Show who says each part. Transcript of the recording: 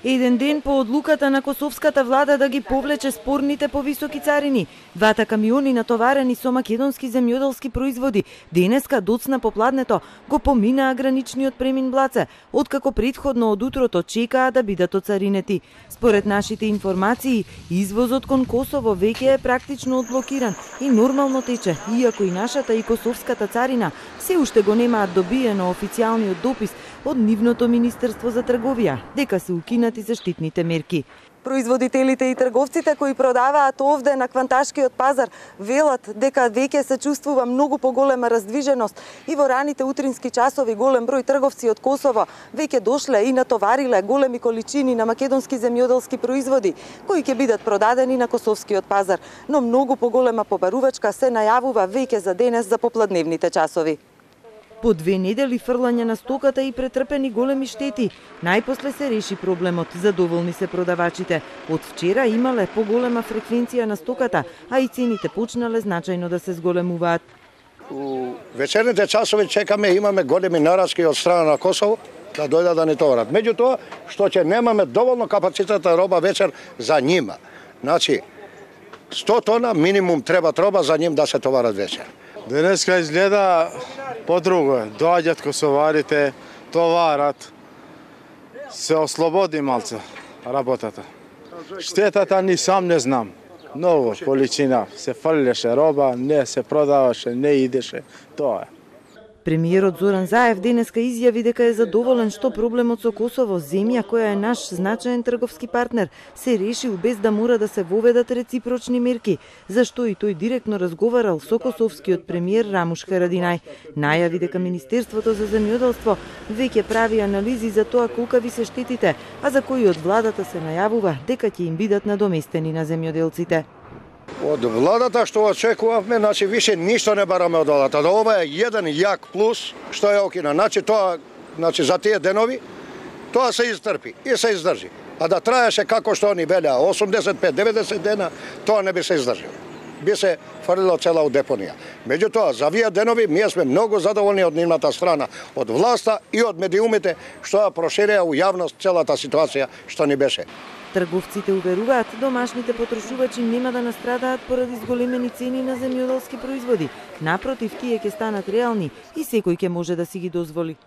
Speaker 1: Еден ден по одлуката на косовската влада да ги повлече спорните повисоки царини, двата камиони натоварени со македонски земјоделски производи денеска доцна попладнето го поминаа граничниот премин Блаце, откако претходно од утрото чекаа да бидат оцаринети. Според нашите информации, извозот кон Косово веќе е практично одблокиран и нормално тече, иако и нашата и косовската царина се уште го немаат добиено официјалниот допис од нивното Министерство за трговија, дека се укинати заштитните мерки. Производителите и трговците кои продаваат овде на кванташкиот пазар велат дека веќе се чувствува многу поголема раздвиженост и во раните утрински часови голем број трговци од Косово веќе дошле и натовариле големи количини на македонски земјоделски производи кои ќе бидат продадени на косовскиот пазар, но многу поголема побарувачка се најавува веќе за денес за попладневните часови. По 2 недели фрлање на стоката и претрпени големи штети, најпосле се реши проблемот, задоволни се продавачите. Од вчера имале поголема фреквенција на стоката, а и цените почнале значајно да се зголемуваат.
Speaker 2: У вечерните часови чекаме, имаме големи нараски од страна на Косово да дојдат да ни товарат. Меѓутоа, што ќе немаме доволно капацитет роба вечер за нима. Значи, 100 тона минимум треба роба за ним да се товарат вечер.
Speaker 3: Денеска изгледа по-друго. Доаѓат косоварите, товарат, се ослободи малце работата. Штетата ни сам не знам. Много количина. Се фрлеше роба, не се продаваше, не идеше. Тоа е.
Speaker 1: Премиерот Зоран Заев денеска изјави дека е задоволен што проблемот со Косово, земја која е наш значаен трговски партнер, се решил без да мора да се воведат реципрочни мерки, зашто и тој директно разговарал со косовскиот премиер Рамуш Харадинај. Најави дека Министерството за земјоделство веќе прави анализи за тоа колкави се штетите, а за кои од владата се најавува дека ќе им бидат надоместени на земјоделците.
Speaker 2: Од владата што очекувавме, значи више ништо не бараме од владата. Ова е еден јак плюс што е окина. Значи тоа, значи за тие денови тоа се изтрпи и се издржи. А да траеше како што они велеа 85-90 дена, тоа не би се издржало. Би се фрлило цела у депонија. Меѓутоа, за овие денови ние сме многу задоволни од нивната страна, од власта и од медиумите што ја проширија у јавност целата ситуација што ни беше.
Speaker 1: Трговците уверуваат, домашните потрошувачи нема да настрадаат поради зголемени цени на земјоделски производи. Напротив, тие ќе станат реални и секој ќе може да си ги дозволи.